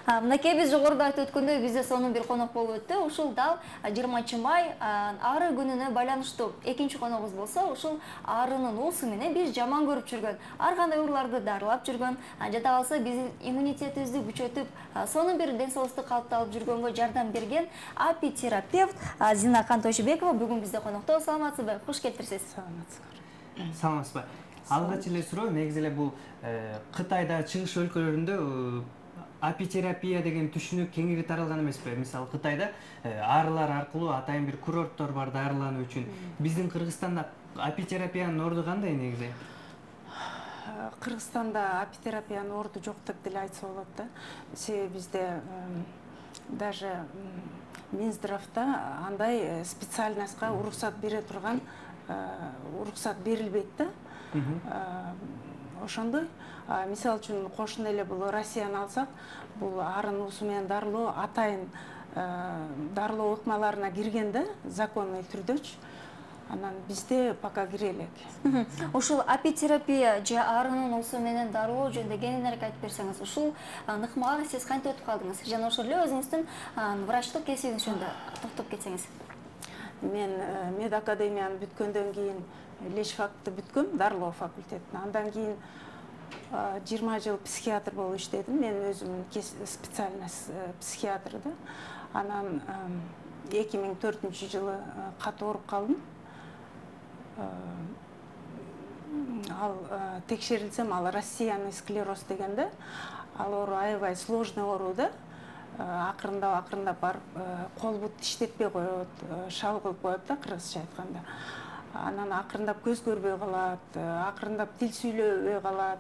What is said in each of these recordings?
Мынакей биз жогоруда айтып өткөндөй бизде сонун бир конок болуп өттү. Ушул дал 20 май ары күнүнө байланыштуу. Экинчи коногубуз болсо ушул арынын уусу менен биз жаман көрүп жүргөн, ар кандай ооруларды дарылап жүргөн, жада калса биздин иммунитетибизди күчөтүп, сонун бир ден соолукту калыпта алып жүргөнгө жардам берген апитерапевт Зина Кантойшубекова бүгүн бизде конокто. Саламатсызбы? Куш келиптирсиз. Саламатсызбы. Алгач эле суроо негизи эле бул Кытайда, чыгыш өлкөлөрүндө апитерапия деген түшүнүк кеңири таралган эмеспи? Мисалы Кытайда арылар аркылуу атайын бир курорттор бар дарылануу үчүн. Биздин Кыргызстанда апитерапиянын орду кандай негизи? Кыргызстанда апитерапиянын орду жок деп деле айтса болот да. Себеби бизде даже Минздравда андай специальностька уруксат бере турган уруксат берилбейт да. Ошондой. Мисалы үчүн кошуна эле бул Россияны алсак, бул арын уусу менен дарылоо атайын дарылоо ыкмаларына кирген да, законный түрдөчү. Анан бизде пока кире элек. Ушул апитерапия же арынын уусу менен дарылоо жөнүндө кеңирээк айтып берсеңиз, ушул ыкмага сиз кантип өтүп калдыңыз? Жана ошол эле өзүңүздүн врачтык кесибиңиз жөнүндө токтоп кетсеңиз. Мен медакадемияны бүткөндөн кийин лечфакты бүткөм, дарылоо факультетин. Андан кийин 20 жыл психиатр болуп иштедим. Мен өзүм специальность психиатр да. Анан 2004-жылы катуу ооруп калдым. Ал текшерилсем, ал рассеянный склероз деген да. Ал оору аябай сложный оору да. Акырындап барып кол бут иштетпей коет, шал кылып коет да, кыргызча айтканда. Анан акырындап көз көрбөй калат, акырындап тил сүйлөбөй калат.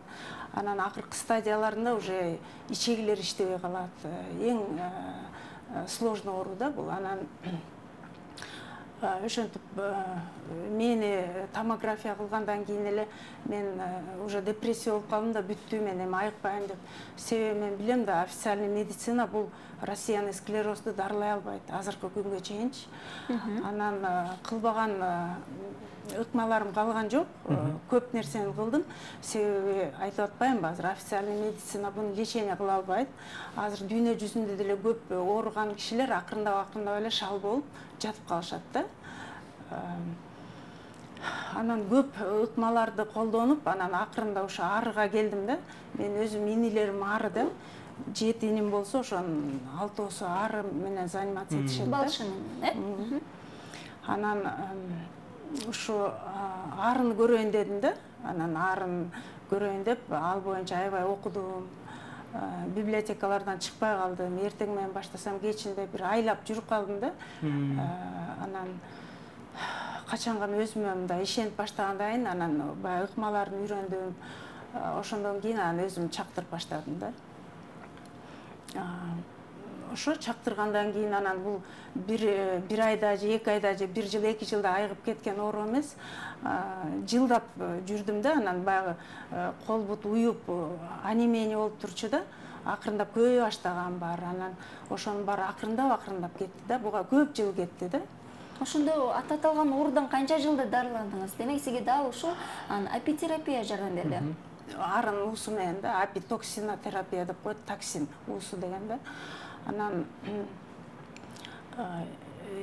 Анан акыркы стадияларында уже ичегилер иштебей калат. Эң сложный оору да бул. Анан ошентип мени томография кылгандан кийин эле мен уже депрессия болуп калдым да, бүттү, мен эми айыкпайм деп. Себеби мен билем да, официальный медицина бул рассеянный склерозду дарылай албайт азыркы күнгө чейинчи. Анан кылбаган ыкмаларым калган жок. Көп нерсени кылдым. Себеби айтып атпаймынбы, азыр официальный медицина буну лечение кыла албайт. Азыр дүйнө жүзүндө деле көп ооруган кишилер акырындап эле шал болуп жатып калышат да. Анан көп ыкмаларды колдонуп, анан акырында ошо арыга келдим да. Мен өзүм инилерим ары да. 7 иним болсо, ошонун 6-оосу ары менен заниматься этишет да. Балшын, Анан ушу арын көрөйүн дедим да. Анан арын көрөйүн деп ал боюнча аябай окудум. Библиотекалардан чыкпай калдым. Эртең менен баштасам кечинде бир айлап жүрүп калдым да. Анан качанга өзүмө мындай ишенип баштагандан кийин анан баягы ыкмаларын үйрөндүм. Ошондон кийин анан өзүм чактырып баштадым да. Ошо чактыргандан кийин анан бул бир айда же 2 айда же 1 жыл 2 жылда айыгып кеткен оору эмес. Жылдап жүрдүм да, анан баягы кол бут уюп анемия болуп турчу да. Акырындап көбөй баштаган бар. Анан ошонун баары акырындап кетти да. Буга көп жыл кетти да. Ошондо аталган оорудан канча жылда дарыландыңыз? Демек сизге дал ушул апитерапия жардам берди. Арын уусу менен да, апитоксинотерапия деп коет, токсин уусу деген да. Анан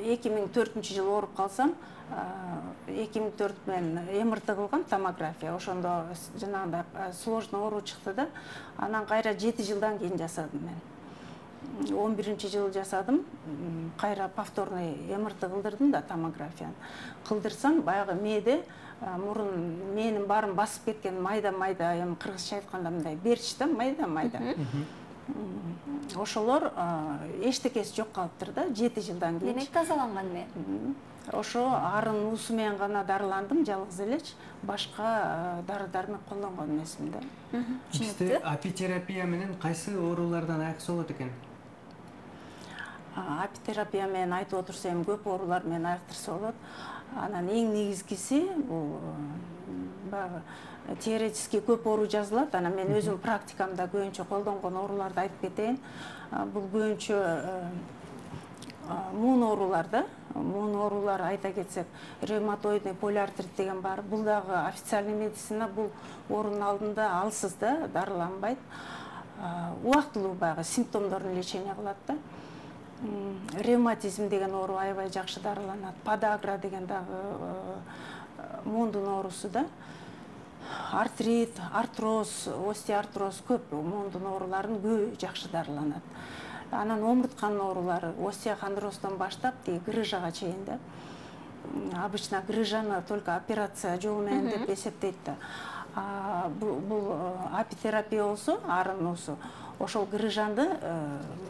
2004-жылы ооруп калсам, 2004 менен МРТ кылгам, томография. Ошондо жанагындай сложный оору чыкты да. Анан кайра 7 жылдан кийин жасадым мен. 11-жылы жасадым. Кайра повторный МРТ кылдырдым да, томографияны. Кылдырсам, баягы мээде мурун менин баарын басып кеткен майда-майда, эми кыргызча айтканда мындай берч да, майда-майда. Ошолор эчтекеси жок калыптыр да, 7 жылдан кийин. Демек тазаланган мен. Ошо арын уусу менен гана дарыландым, жалгыз элечи. Башка дары-дармек колдонгон эмесмин да. Бизде апитерапия менен кайсы оорулардан айыкса болот экен? Апитерапия менен айтып отурса эми көп оорулар менен айыктырса болот. Анан эң негизгиси бул баягы теоретически көп оору жазылат. Анан мен өзүм практикамда көбүнчө колдонгон ооруларды айтып кетейин. Бул көбүнчө муун оорулар да. Муун оорулар айта кетсек, ревматоидный полиартрит деген бар. Бул дагы официальный медицина бул оорунун алдында алсыз да, дарыланбайт. убактылуу баягы симптомдорун лечение кылат да. Ревматизм деген оору аябай жакшы дарыланат. Подагра деген дагы муундун оорусу да. Артрит, артроз, остеоартроз көп муундун ооруларын көбү жакшы дарыланат. Анан омуртканын оорулары остеохондростон баштап грыжага чейин да. Обычно грыжаны только операция жолу менен деп эсептейт да. Бул апитерапия болсо, арын уусу ошол грыжанды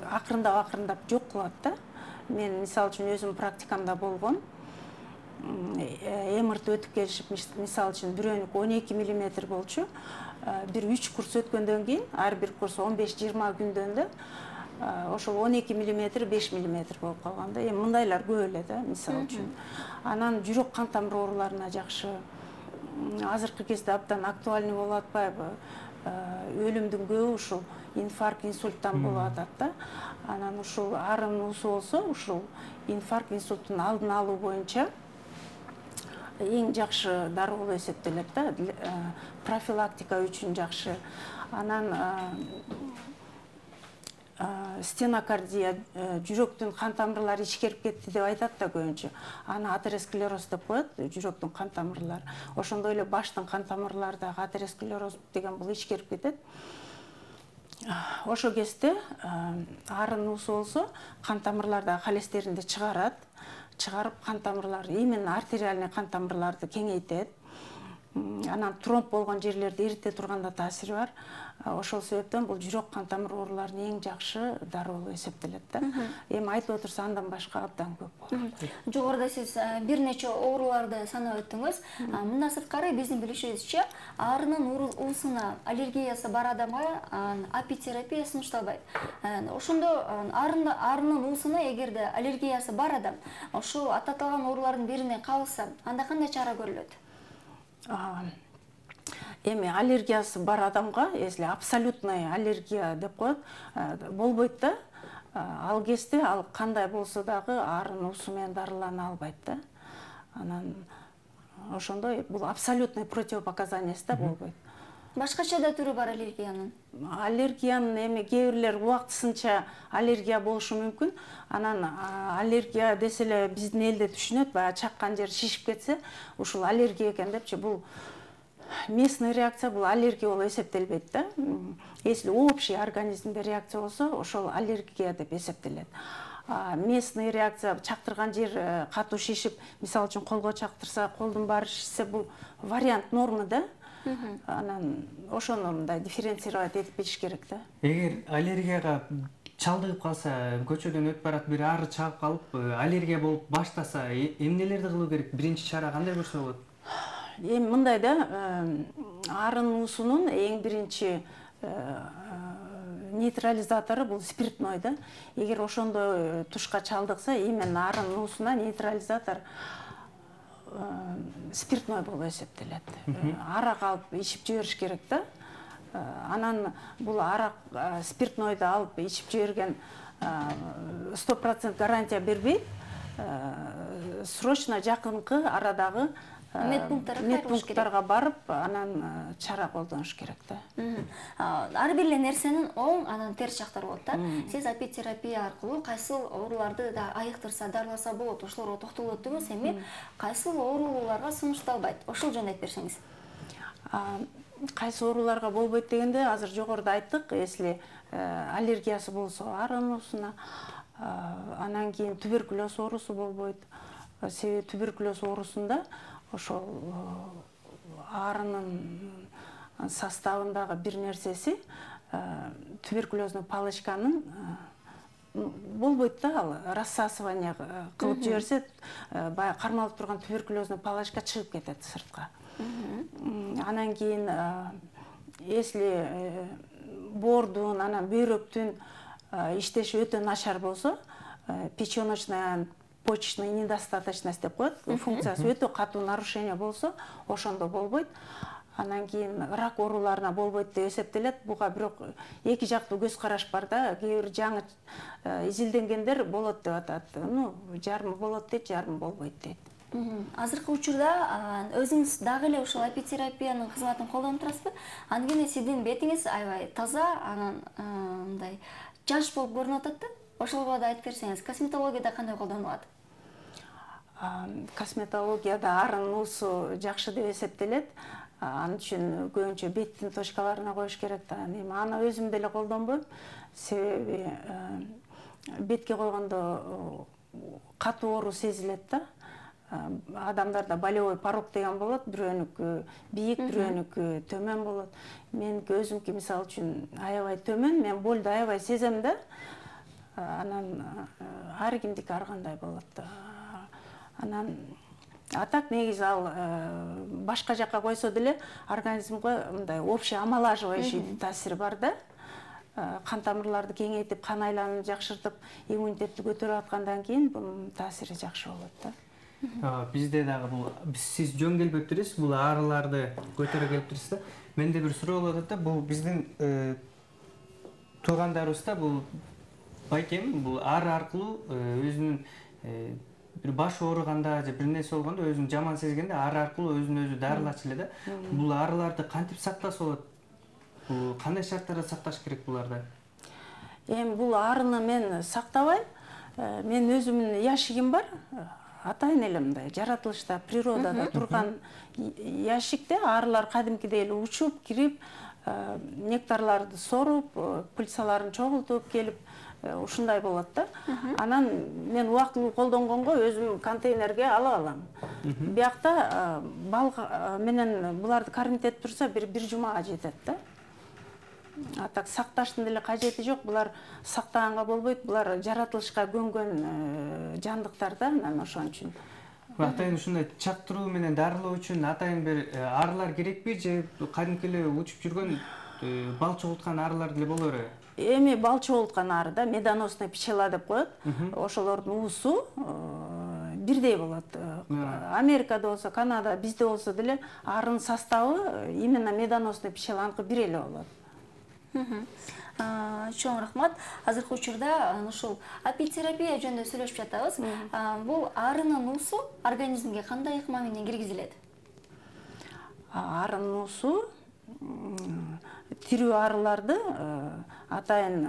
акырындап жок кылат да. Мен мисалы үчүн өзүм практикамда болгон. МРТ өтүп келишип, мисалы үчүн бирөөнүкү 12 мм болчу. Бир 3 курс өткөндөн кийин, ар бир курс 15-20 күндөн да ошол 12 мм 5 мм болуп калган да. Эми мындайлар көп эле да, мисалы үчүн. Анан жүрөк кан тамыр ооруларына жакшы. Азыркы кезде абдан актуальный болуп атпайбы? Өлүмдүн көбү ушул инфаркт, инсульттан болуп атат да. Анан ушул арын уусу болсо, ушул инфаркт, инсульттун алдын алуу боюнча эң жакшы дароо болуп эсептелет да. Профилактика үчүн жакшы. Анан стенокардия, жүрөктүн кан тамырлары ичкерип кетти деп айтат да көбүнчө. Аны атеросклероз деп коет, жүрөктүн кан тамырлары. Ошондой эле баштын кан тамырлары дагы атеросклероз деген бул ичкерип кетет. Ошол кезде арын уусу болсо, кан тамырлардагы холестеринди чыгарып, кан тамырлары, именно артериальный кан тамырларды кеңейтет. Анан тромб болгон жерлерди эрите турганда таасири бар. Ошол себептен бул жүрөк кан тамыр ооруларынын эң жакшы дароо болуп эсептелет да. Эми айтып отурса андан башка абдан көп болот. Жогоруда сиз бир нече ооруларды санап өттүңүз. Мындан сырткары биздин билишибизче, арынын уусуна аллергиясы бар адамга апитерапия сунушталбайт. Ошондо арынын уусуна эгерде аллергиясы бар адам ошол аталган оорулардын бирине кабылса, анда кандай чара көрүлөт? Эми аллергиясы бар адамга, если абсолютная аллергия деп коет, болбойт да. Ал кезде ал кандай болсо дагы арын уусу менен дарылана албайт да. Анан ошондой бул абсолютный противопоказаниясы да болбойт. Башкача да түрү бар аллергиянын. Аллергиянын эми кээ бирлер убактысынча аллергия болушу мүмкүн. Анан аллергия десе эле биздин элде түшүнөт, баягы чаккан жер шишип кетсе, ушул аллергия экен депчи. Бул местный реакция, бул аллергия болуп эсептелбейт да. Если общий организмде реакция болсо, ошол аллергия деп эсептелет. Местный реакция, чактырган жер катуу шишип, мисалы үчүн колго чактырса, колдун баары шишсе, бул вариант нормы да. Анан ошону мындай дифференцировать этип кетиш керек да. Эгер аллергияга чалдыгып калса, көчөдөн өтүп барат, бир ары чагып калып, аллергия болуп баштаса, эмнелерди кылуу керек? Биринчи чара кандай көрсө болот? Эми мындай да, арын уусунун эң биринчи нейтрализатору бул спиртной да. Эгер ошондой тушка чалдыкса, именно арын уусуна нейтрализатор спиртной болуп эсептелет. Арак алып ичип жибериш керек да. Анан бул арак спиртнойду алып ичип жиберген 100% гарантия бербейт. Срочно жакынкы арадагы медпункттарга барып, анан чара колдонуш керек да. Ар бир эле нерсенин оң, анан терс жактары болот да. Сиз апитерапия аркылуу кайсыл ооруларды да айыктырса, дарыласа болот, ошолорго токтолуп өттүңүз. Эми кайсыл ооруларга сунушталбайт? Ошол жөнүндө айтып берсеңиз. Кайсы ооруларга болбойт дегенде, азыр жогоруда айттык, если аллергиясы болсо арын уусуна, анан кийин туберкулез оорусу болбойт. Себеби туберкулез оорусунда ошол арынын составындагы бир нерсеси туберкулезный палочканын болбойт да, ал рассасывание кылып жиберсе, баягы кармалып турган туберкулезный палочка чыгып кетет сыртка. Анан кийин если боордун, анан бөйрөктүн иштеши өтө начар болсо, печёночная почечная недостаточность деп коет, функциясы өтө катуу нарушение болсо, ошондо болбойт. Анан кийин рак ооруларына болбойт деп эсептелет. Буга бирок эки жактуу көз караш бар да. Кээ бир жаңы изилденгендер болот деп атат. Жарымы болот дейт, жарымы болбойт дейт. Азыркы учурда өзүңүз дагы эле ушул апитерапиянын кызматын колдонуп турасызбы? Анткени сиздин бетиңиз аябай таза, анан мындай жаш болуп көрүнүп атат да. Ошолго да айтып берсеңиз, косметологияда кандай колдонулат? Косметологияда арын нуусу жакшы деп эсептелет. Ал үчүн көбүнчө беттин точкаларына коюш керек да. Эми аны өзүм деле колдонбойм. Себеби бетке койгондо катуу оору сезилет да. Адамдарда болевой порог деген болот, бирөөнүкү бийик, бирөөнүкү төмөн болот. Меники өзүмкү мисалы үчүн аябай төмөн, мен болду аябай сезем да. Анан ар кимдики ар кандай болот. Анан атак негизи ал башка жакка койсо деле организмге мындай общий омолаживающий таасири бар да. Кан тамырларды кеңейтип, кан айланууну жакшыртып, иммунитетти көтөрүп аткандан кийин бунун таасири жакшы болот да. Бизде дагы бул сиз жөн келбептирсиз, бул аарыларды көтөрө келиптирсиз да. Менде бир суроо болуп атат да, бул биздин туугандарыбызда бул байкем бул ары аркылуу өзүнүн бир баш ооруганда же бир нерсе болгондо өзүн жаман сезгенде ары аркылуу өзүн өзү дарылачу эле да. Бул аарыларды кантип сактаса болот? Бул кандай шарттарда сакташ керек буларды? Эми бул аарыны мен сактабайм. Мен өзүмдүн ящигим бар. Атайын эле мындай жаратылышта, природада турган ящикте аарылар кадимкидей эле учуп, кирип, нектарларды соруп, пыльцаларын чогултуп келип, ушундай болот да. Анан мен убактылуу колдонгонго өзүм контейнерге алып алам. Биякта бал менен буларды кармитетип турса бир жумага жетет да. Так сакташтын деле кажети жок. Булар сактаганга болбойт. Булар жаратылышка көнгөн жандыктар да. Анан ошон үчүн. Атайын ушундай чактыруу менен дарылоо үчүн атайын бир аарылар керекпи же кадимки эле учуп жүргөн бал чогулткан аарылар деле боло береби? Эми бал чогулткан ары да, медоносный пчела деп коет. Ошолордун уусу бирдей болот. Америкада болсо, Канада, бизде болсо деле арынын составы именно медоносный пчеланыкы бир эле болот. Чоң рахмат. Азыркы учурда ушул апитерапия жөнүндө сүйлөшүп жатабыз. Бул арынын уусу организмге кандай ыкма менен киргизилет? Арынын уусу тирүү арыларды атайын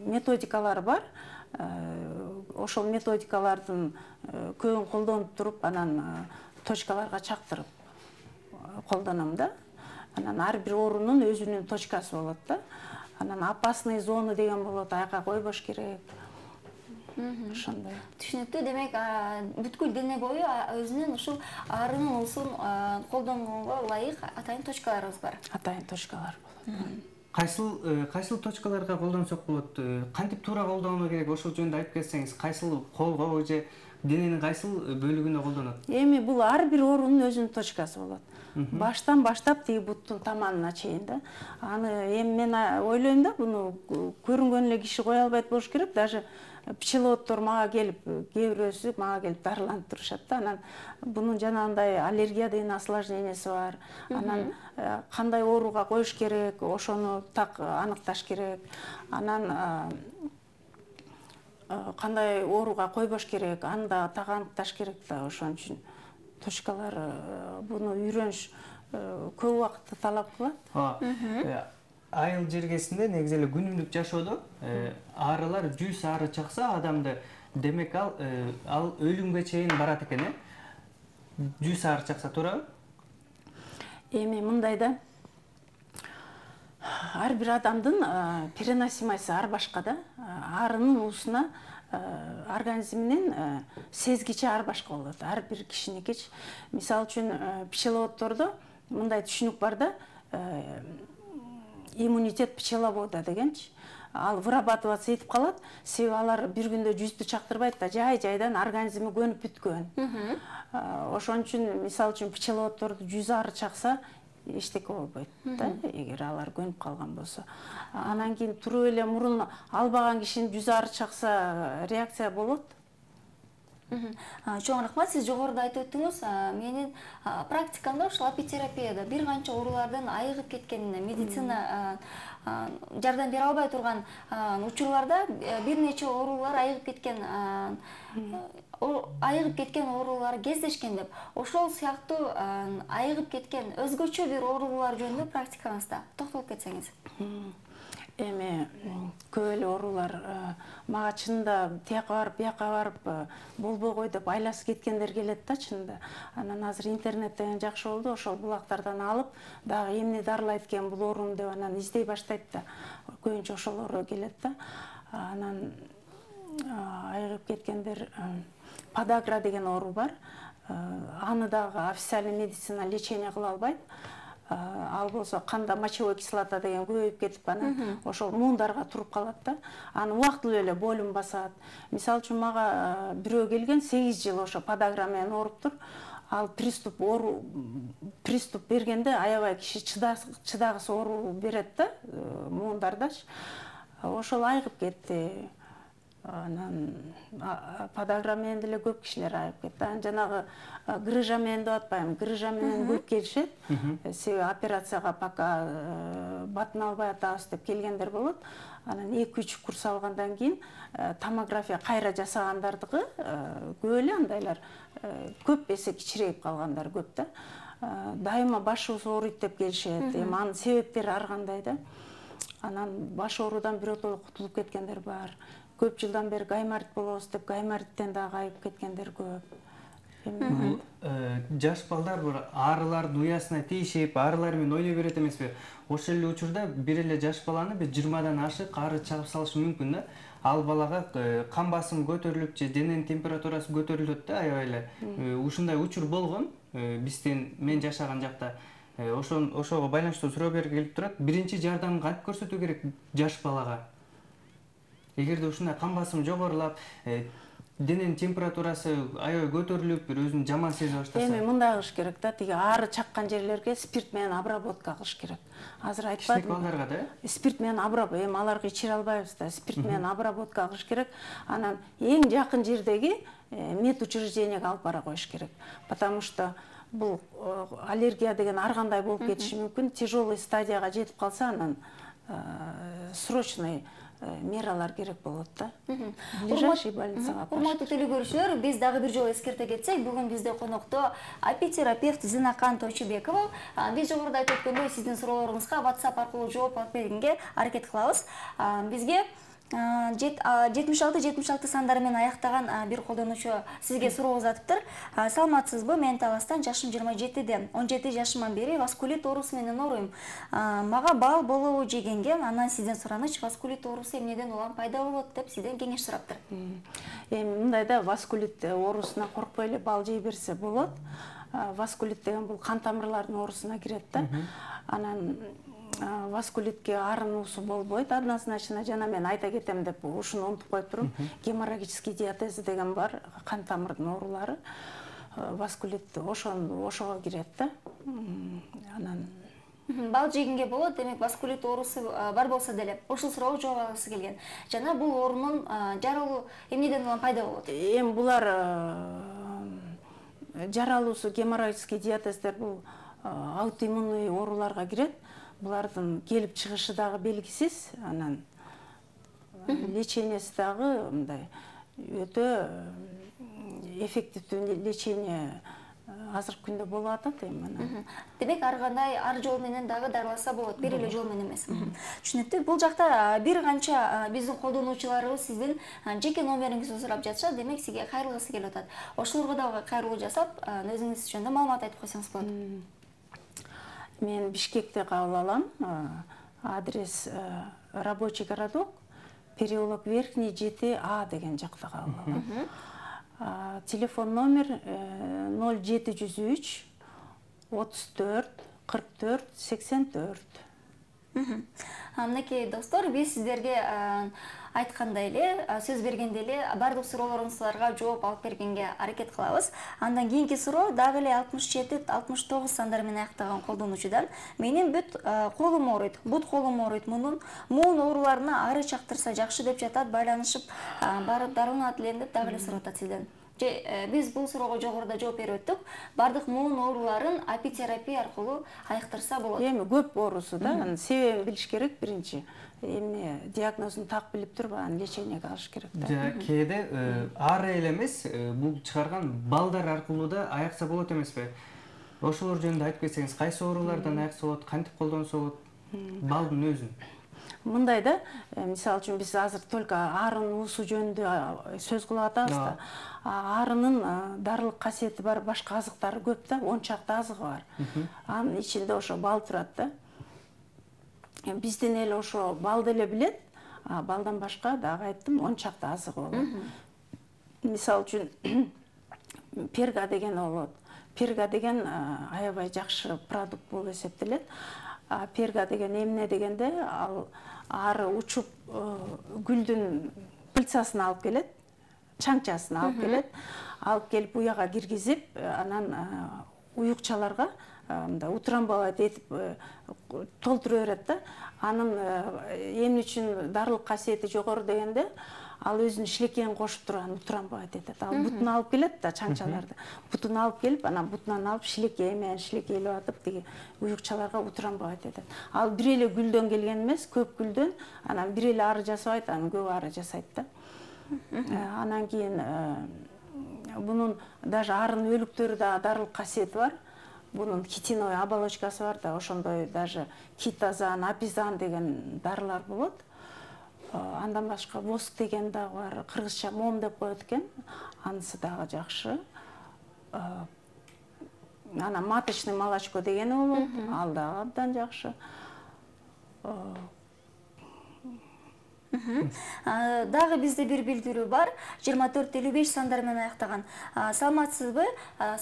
методикалары бар. Ошол методикалардын көбүн колдонуп туруп, анан точкаларга чактырып колдоном да. Анан ар бир оорунун өзүнүн точкасы болот да. Анан опасный зоны деген болот, аяка койбош керек. Ошондой. Түшүнүктүү. Демек, бүткүл дене бою өзүнүн ушул арынын уусун колдонгонго ылайык атайын точкаларыбыз бар. Атайын точкалар болот. Кайсыл точкаларга колдонсок болот? Кантип туура колдонуу керек? Ошол жөнүндө айтып кетсеңиз, кайсыл колго же дененин кайсыл бөлүгүнө колдонот? Эми бул ар бир оорунун өзүнүн точкасы болот. Баштан баштап тиги буттун таманына чейин да. Аны эми мен ойлойм да, буну көрүнгөн эле киши кое албайт болуш керек. Даже пчеловоддор мага келип, кээ бирөөсү мага келип дарыланып турушат да. Анан бунун жанагындай аллергия деген осложненияси бар. Анан кандай ооруга коюш керек, ошону так аныкташ керек. Анан кандай ооруга койбош керек, аны да так аныкташ керек да. Ошон үчүн точкалар буну үйрөнүш көп убакытты талап кылат. Айыл жергесинде негизи эле күнүмдүк жашоодо аарылар 100 ары чакса адамды, демек ал өлүмгө чейин барат экен, 100 ары чакса туурабы? Эми мындай да. Ар бир адамдын переносимости ар башка да. Арынын уусуна организминин сезгичи ар башка болот. Ар бир кишиникичи. Мисалы үчүн пчеловоддордо мындай түшүнүк бар да. Иммунитет пчеловода дегенчи. Ал вырабатываться этип калат. Себеби алар бир күндө 100-тү чактырбайт да, жай-жайдан организми көнүп бүткөн. Ошон үчүн мисалы үчүн пчеловоддорду 100 ары чакса эчтеке болбойт да, эгер алар көнүп калган болсо. Анан кийин туруп эле мурун албаган кишинин 100 ары чакса реакция болот. Чоң рахмат, сиз жогоруда айтып өттүңүз. Менин практикамда ушул апитерапияда бир канча оорулардан айыгып кеткенине, медицина жардам бере албай турган учурларда бир нече оорулар айыгып кеткен оорулар кездешкен деп. Ошол сыяктуу айыгып кеткен өзгөчө бир оорулар жөнүндө практикаңызда токтолуп кетсеңиз. Эми көп эле оорулар мага чынында тияка барып, бияка барып болбой кой деп айласы кеткендер келет да чынында. Анан азыр интернет деген жакшы болду, ошол булактардан алып, дагы эмне дарылайт экен бул оорум деп анан издей баштайт да. Көбүнчө ошолор келет да. Анан айыгып кеткендер подагра деген оору бар. Аны дагы официальный медицина лечение кыла албайт. Ал болсо канда мочевой кислота деген көбөйүп кетип анан ошол муундарга туруп калат да. Аны убактылуу эле бойлум басат. Мисалы үчүн мага бирөө келген 8 жыл ошо подагра менен ооруптур. Ал приступ бергенде аябай киши чыдагысы оору берет да, муундардачы. Ошол айыгып кетти. Анан подагра менен деле көп кишилер айыгып кетти. Анан жанагы грыжа менен деп атпайбы, грыжа менен көп келишет. Себеби операцияга пока батын албай атабыз деп келгендер болот. Анан 2-3 курс алгандан кийин томография кайра жасагандардыгы көп эле андайлар көп эсе кичирейип калгандар көп да. Дайыма башыбыз ооруйт деп келишет. Эми анын себептери ар кандай да. Анан баш оорудан биротоло кутулуп кеткендер бар. Көп жылдан бери гайморит болобуз деп гаймориттен дагы айып кеткендер көп. Жаш балдар бир арылардын уясына тийишип, арылар менен ойной берет эмеспи? Ошол эле учурда бир эле жаш баланы 20-дан ашык ары чагып салышы мүмкүн да. Ал балага кан басымы көтөрүлүп же дененин температурасы көтөрүлөт да аябай эле. Ушундай учур болгон мен жашаган жакта. Ошого байланыштуу суроо берилип турат. Биринчи жардамды кантип көрсөтүү керек жаш балага? Эгерде ушундай кан басымы жогорулап, дененин температурасы аябай көтөрүлүп, бир өзүн жаман сезе баштаса. Эми мындай кылыш керек да, тиги ары чаккан жерлерге спирт менен обработка кылыш керек. Азыр айтпадым. Кичине балдарга да? Спирт менен обработка, эми аларга ичире албайбыз да, спирт менен обработка кылыш керек. Анан эң жакын жердеги медучреждениеге алып бара коюш керек. Потому что бул аллергия деген ар кандай болуп кетиши мүмкүн. Тяжелый стадияга жетип калса, анан срочный мералар керек болот да. Ближайший больницага. Урматтуу телекөрүүчүлөр, биз дагы бир жолу эскерте кетсек, бүгүн бизде конокто апитерапевт Зинакан Тойчубекова. Биз жогоруда айтып өткөндөй, сиздин суроолоруңузга WhatsApp аркылуу жооп алып бергенге аракет кылабыз. Бизге 76-76 сандары менен аяктаган бир колдонуучу сизге суроо узатыптыр. Саламатсызбы? Мен Таластан, жашым 27-де. 17 жашымдан бери васкулит оорусу менен ооруйм. Мага бал болобу жегенге, анан сизден суранычы, васкулит оорусу эмнеден улам пайда болот деп сизден кеңеш сураптыр. Эми мындай да, васкулит оорусуна коркпой эле бал жей берсе болот. Васкулит деген бул кан тамырлардын оорусуна кирет да. Анан васкулитке арынуусу болбойт однозначно. Жана мен айта кетем деп ушуну унутуп коюп турум. Геморрагический диатез деген бар, кан тамырдын оорулары. Васкулит ошого кирет да. Анан бал жегенге болот, демек васкулит оорусу бар болсо деле ушул суроого жооп алгысы келген. Жана бул оорунун жаралуу эмнеден улам пайда болот? Эми булар жаралуусу геморрагический диатездер бул аутоиммунный ооруларга кирет. Булардын келип чыгышы дагы белгисиз, анан леченияси дагы мындай өтө эффективдүү лечение азыркы күндө болуп атат эми анан. Демек ар кандай ар жол менен дагы дарыласа болот, бир эле жол менен эмес. Түшүнүктүү. Бул жакта бир канча биздин колдонуучуларыбыз сиздин жеке номериңизди сурап жатышат, демек сизге кайрылгысы келип атат. Ошолорго дагы кайрылуу жасап, өзүңүз жөнүндө маалымат айтып койсоңуз болот. Мен Бишкекте кабыл алам. Адрес рабочий городок, переулок Верхний 7А деген жакта кабыл алам. Телефон номер 0703 34 44 84. Мынакей достор, биз сиздерге айткандай эле, сөз бергенде эле бардык суроолоруңуздарга жооп алып бергенге аракет кылабыз. Андан кийинки суроо дагы эле 67-69 сандары менен аяктаган колдонуучудан. Менин бүт колум ооруйт, бут колум ооруйт. Муун ооруларына ары чактырса жакшы деп жатат, байланышып барып дарыланат элем деп дагы эле сурап атат сизден. Биз бул суроого жогоруда жооп берип өттүк. Бардык муун ооруларын апитерапия аркылуу айыктырса болот. Эми көп оорусу да, анын себебин билиш керек биринчи. Эми диагнозун так билип туруп, анан лечениеге алыш керек да. Кээде ары эле эмес, бул чыгарган балдар аркылуу да айыкса болот эмеспи? Ошолор жөнүндө айтып кетсеңиз, кайсы оорулардан айыкса болот, кантип колдонсо болот? Балдын өзүн. Мындай да, мисалы үчүн биз азыр только арын уусу жөнүндө сөз кылып атабыз да. Арынын дарылык касиети бар башка азыктары көп да, 10 чакты азыгы бар. Анын ичинде ошо бал турат да. Биздин эл ошо балды эле билет, балдан башка дагы айттым 10 чакты азыгы болот. Мисалы үчүн перга деген болот. Перга деген аябай жакшы продукт болуп эсептелет. Перга деген эмне дегенде, ал ары учуп гүлдүн пыльцасын алып келет, чаңчасын алып келет. Алып келип уяга киргизип, анан уюкчаларга мындай утрамбовать этип толтура берет да. Анын эмне үчүн дарылык касиети жогору дегенде, ал өзүнүн шилекейин кошуп туруп анан утрамбовать этет. Ал бутун алып келет да, чаңчаларды. Бутун алып келип, анан бутунан алып шилекей менен шилекейлеп атып, тиги уюкчаларга утрамбовать этет. Ал бир эле гүлдөн келген эмес, көп гүлдөн, анан бир эле ары жасабайт, анан көп ары жасайт да. Анан кийин бунун даже арын өлүктөрү да дарылык касиети бар. Бунун хитиновый оболочкасы бар да, ошондой даже китазан, апизан деген дарылар болот. Андан башка воск деген дагы бар, кыргызча мом деп коет экен. Анысы дагы жакшы. Анан маточный молочко дегени болот, ал дагы абдан жакшы. Дагы бизде бир билдирүү бар. 24-55 сандар менен аяктаган. Саламатсызбы?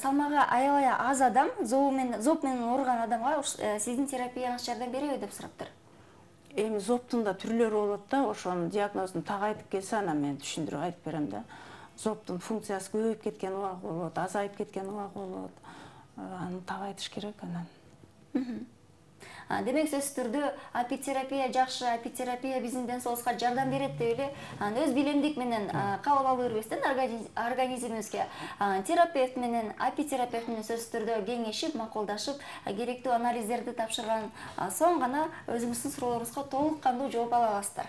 Салмагы аябай аз адам, зоб менен ооруган адамга сиздин терапияңыз жардам береби деп сураптыр. Эми зобтун да түрлөрү болот да, ошонун диагнозун так айтып келсе, анан мен түшүндүрүп айтып берем да. Зобтун функциясы көбөйүп кеткен убагы болот, азайып кеткен убагы болот. Аны так айтыш керек анан. Демек сөзсүз түрдө апитерапия жакшы, апитерапия биздин ден соолукка жардам берет деп эле өз билимдик менен кабыл алып бербестен организмибизге терапевт менен, апитерапевт менен сөзсүз түрдө кеңешип, макулдашып, керектүү анализдерди тапшырган соң гана өзүңүздүн суроолоруңузга толук кандуу жооп ала аласыздар.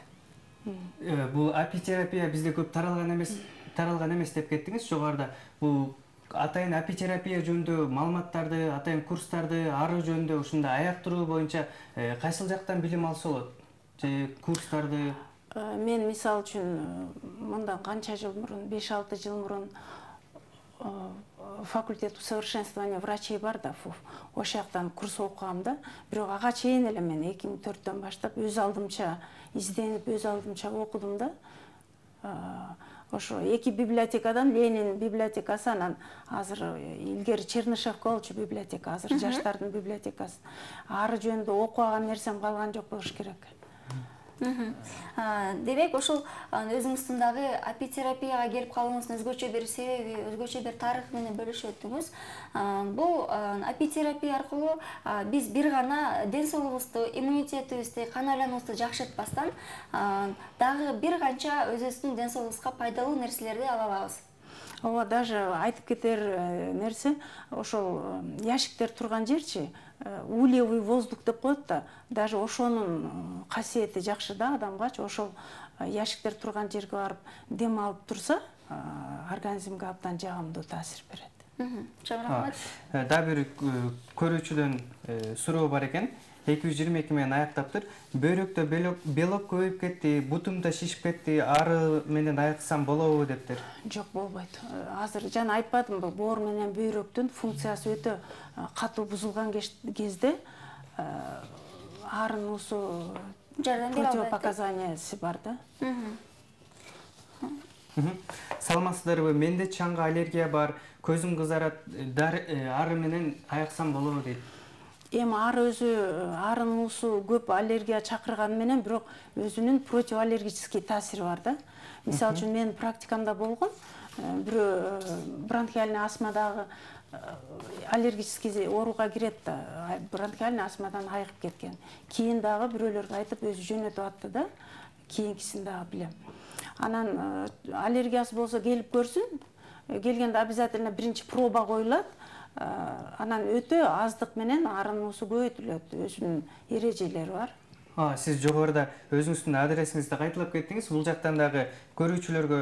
Бул апитерапия бизде көп таралган эмес деп кеттиңиз жогоруда. Бул атайын апитерапия жөнүндө маалыматтарды, атайын курстарды, ары жөнүндө ушундай аяктыруу боюнча кайсыл жактан билим алса болот? Же курстарды? Мен мисалы үчүн мындан канча жыл мурун, 5-6 жыл мурун факультет усовершенствования врачей бар да, ошол жактан курс окугам да. Бирок ага чейин эле мен 2004-төн баштап өз алдымча изденип, өз алдымча окудум да. Ошо эки библиотекадан Ленин библиотекасы, анан азыр илгери Чернышевка болчу библиотека, азыр жаштардын библиотекасы. Ары жөнүндө окуган нерсем калган жок болуш керек. Демек ошол өзүңүздүн дагы апитерапияга келип калууңуздун өзгөчө бир себеби, өзгөчө бир тарыхы менен бөлүшүп өттүңүз. Бул апитерапия аркылуу биз бир гана ден соолугубузду, иммунитетибизди, кан айлануубузду жакшыртпастан дагы бир канча өзүбүздүн ден соолугубузга пайдалуу нерселерди ала алабыз. Ооба, даже айтып кетер нерсе, ошол яшиктер турган жерчи, ульевый воздух деп коет да, даже ошонун касиети жакшы да адамгачы. Ошол яшиктер турган жерге барып дем алып турса, организмге абдан жагымдуу таасир берет. Чоң рахмат. Дагы бир көрүүчүдөн суроо бар экен. 222 менен аяктаптыр. Бөйрөктө белок көбөйүп кетти, бутумда шишип кетти, ары менен айыксам болобу дептир. Жок, болбойт. Азыр жана айтпадымбы, боор менен бөйрөктүн функциясы өтө катуу бузулган кезде арын уусу противопоказаниясы бар да. Саламатсыздарбы? Менде чаңга аллергия бар, көзүм кызарат, ары менен айыксам болобу дейт. Эми ары өзү арын уусу көп аллергия чакырганы менен, бирок өзүнүн противоаллергический таасири бар да. Мисалы үчүн менин практикамда болгон, бирөө бронхиальный астмадагы аллергический ооруга кирет да, бронхиальный астмадан айыгып кеткен. Кийин дагы бирөөлөргө айтып өзү жөнөтүп атты да, кийинкисин дагы билем. Анан аллергиясы болсо келип көрсүн, келгенде обязательно биринчи проба коюлат. Анан өтө аздык менен арынын уусу көбөйтүлөт. Өзүнүн эрежелери бар. Сиз жогоруда өзүңүздүн адресиңизди кайталап кеттиңиз. Бул жактан дагы көрүүчүлөргө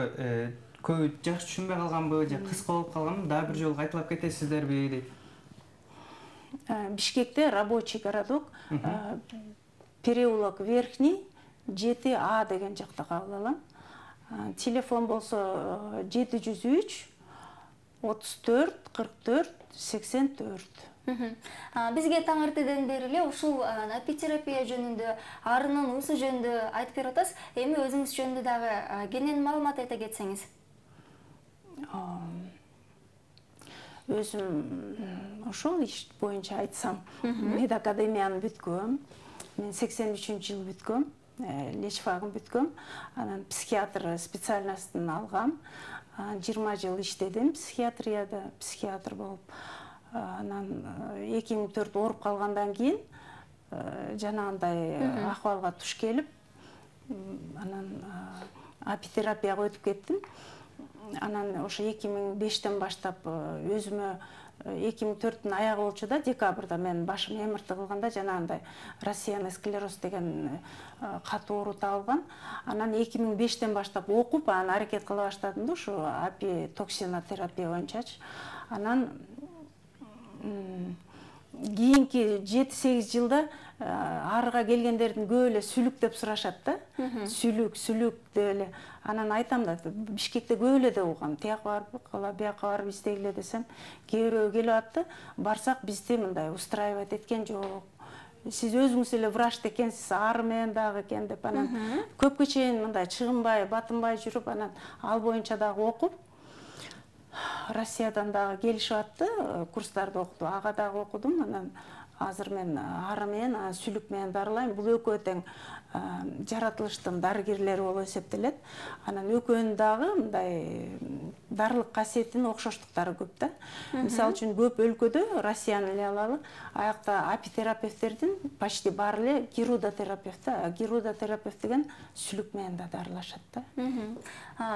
көбү жакшы түшүнбөй калганбы же кыска болуп калганбы? Дагы бир жолу кайталап кетесиздерби дейт. Бишкекте рабочий городок, переулок Верхний 7А деген жакта кабыл алам. Телефон болсо 703 34 44 84. Бизге таң эртеден бери эле ушул апитерапия жөнүндө, арынын уусу жөнүндө айтып берип атасыз. Эми өзүңүз жөнүндө дагы кенен маалымат айта кетсеңиз. Өзүм ошол иш боюнча айтсам, медакадемияны бүткөм. Мен 83-жыл бүткөм, лечфагын бүткөм. Анан психиатр специальностун алгам. 20 жыл иштедим психиатрияда, психиатр болуп. Анан 2004 ооруп калгандан кийин жанагындай акыбалга туш келип, анан апитерапияга өтүп кеттим. Анан ошо 2005-тен баштап өзүмө 2004-түн аягы болчу да, декабрда мен башым эмирти кылганда жанагындай рассеянный склероз деген катуу оору табылган. Анан 2005-тен баштап окуп, анан аракет кыла баштадым да, ушу апитоксинотерапия боюнчачы. Анан кийинки 7-8 жылда арыга келгендердин көп эле сүлүк деп сурашат да. Сүлүк деп эле. Анан айтам да, Бишкекте көп эле деп угам. Тияка барып, бияка барып издегиле десем, кээ бирөө келип атты. Барсак бизди мындай устраивать эткен жок. Сиз өзүңүз эле врач экенсиз, ары менен дагы экен деп. Анан көпкө чейин мындай чыгынбай, батынбай жүрүп, анан ал боюнча дагы окуп, Россиядан дагы келишип атты, курстарды окутуп, ага дагы окудум. Анан азыр мен ары менен, сүлүк менен дарылайм. Бул экөө тең жаратылыштын дарыгерлери болуп эсептелет. Анан экөөнүн дагы мындай дарылык касиетинин окшоштуктары көп да. Мисалы үчүн көп өлкөдө, Россияны эле алалы, аякта апитерапевттердин почти баары эле гирудотерапевт да. Гирудотерапевт деген сүлүк менен да дарылашат да.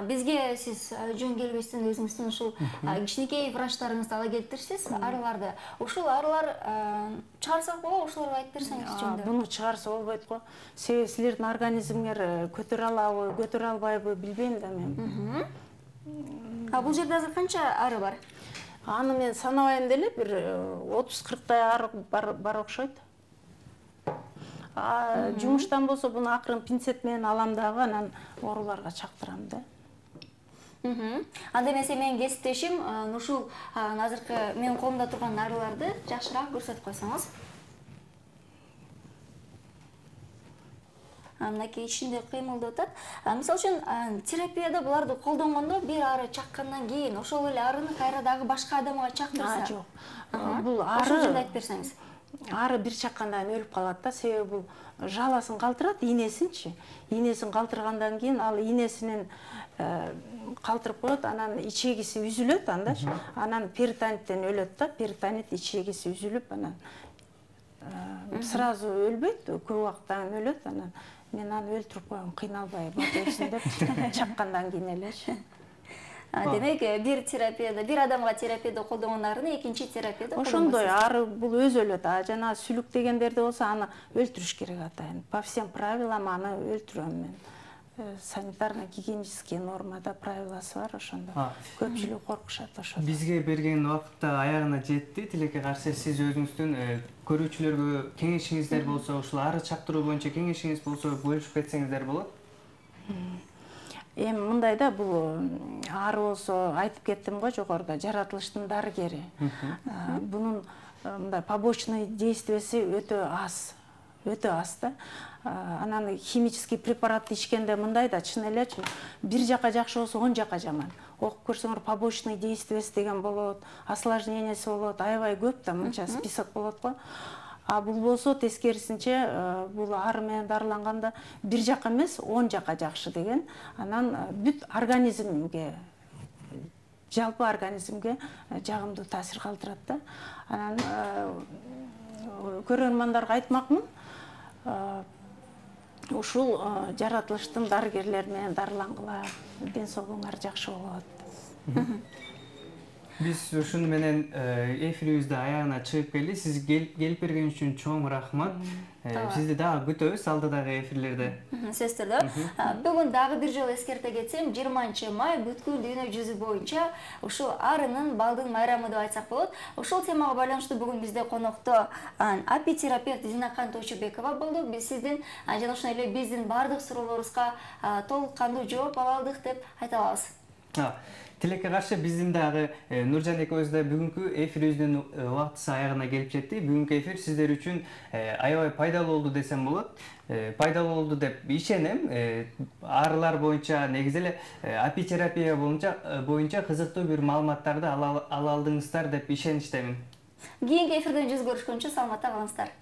Бизге сиз жөн келбестен өзүңүздүн ушул кичинекей врачтарыңызды ала келиптирсиз, арыларды. Ушул арылар чыгарсак болобу, ушуларга айтып берсеңиз жөнүндө. Буну чыгарса болбойт го. Себеби силердин организмиңер көтөрө алабы, көтөрө албайбы билбейм да мен. Бул жерде азыр канча ары бар? Аны мен санабайм деле, бир 30-40 ары бар окшойт. Жумуштан болсо буну акырын пинцет менен алам дагы, анан ооруларга чактырам да. Анда эмесе менин кесиптешим ушул азыркы менин колумда турган арыларды жакшыраак көрсөтүп койсоңуз. Мынакей ичинде кыймылдап атат. Мисалы үчүн терапияда буларды колдонгондо бир ары чаккандан кийин ошол эле арыны кайра дагы башка адамга чактырса. Жок. Бул ары ошол жерде айтып берсеңиз. Ары бир чаккандан өлүп калат да, себеби бул жаласын калтырат, инесинчи. Инесин калтыргандан кийин ал инесинен калтырып коет, анан ичегиси үзүлөт андачы. Анан перитониттен өлөт да, перитонит ичегиси үзүлүп, анан сразу өлбөйт, көп убакыттан өлөт, анан мен аны өлтүрүп коем, кыйналбай бат өлсүн деп чаккандан кийин элечи. Демек, бир терапияда, бир адамга терапияда колдонгон арыны экинчи терапияда колдонбойсуз. Ошондой ары бул өзү өлөт. Жана сүлүк дегендерде болсо аны өлтүрүш керек атайын. По всем правилам аны өлтүрөм мен. Санитарно-гигиенический нормада правиласы бар, ошондо көпчүлүк коркушат ошо. Бизге берген убакытта аягына жетти. Тилекке каршы сиз өзүңүздүн көрүүчүлөргө кеңешиңиздер болсо, ушул ары чактыруу боюнча кеңешиңиз болсо бөлүшүп кетсеңиздер болот. Эми мындай да, бул ары болсо айтып кеттим го жогоруда, жаратылыштын дарыгери. Бунун мындай побочный действиясы өтө аз да. Анан химический препаратты ичкенде мындай да, чын эле бир жака жакшы болсо 10 жака жаман. Окуп көрсөңөр, побочный действиясы деген болот, осложнениясы болот, аябай көп да, мынча список болот го. Бул болсо тескерисинче, бул ары менен дарыланганда бир жака эмес, 10 жака жакшы деген. Анан бүт организмге, жалпы организмге жагымдуу таасир калтырат да. Анан көрөрмандарга айтмакмын, ушул жаратылыштын дарыгерлери менен дарылангыла, ден соолугуңар жакшы болот. Биз ушуну менен эфирибизди аягына чыгып келди. Сиз келип берген үчүн чоң рахмат. Сизди дагы күтөбүз алдыдагы эфирлерде. Сөзсүз түрдө. Бүгүн дагы бир жолу эскерте кетсем, 20-май бүткүл дүйнө жүзү боюнча ушул арынын, балдын майрамы деп айтсак болот. Ушул темага байланыштуу бүгүн бизде конокто апитерапевт Зинакан Тойчубекова болду. Биз сиздин жана ошондой эле биздин бардык суроолорубузга толук кандуу жооп ала алдык деп айта алабыз. Тилекке каршы биздин дагы Нуржан экөөбүз да бүгүнкү эфирибиздин убактысы аягына келип жетти. Бүгүнкү эфир сиздер үчүн аябай пайдалуу болду десем болот. Пайдалуу болду деп ишенем. Аарылар боюнча негизи эле апитерапия боюнча кызыктуу бир маалыматтарды ала алдыңыздар деп ишеничтемин. Кийинки эфирден жүз көрүшкөнчө саламатта калыңыздар.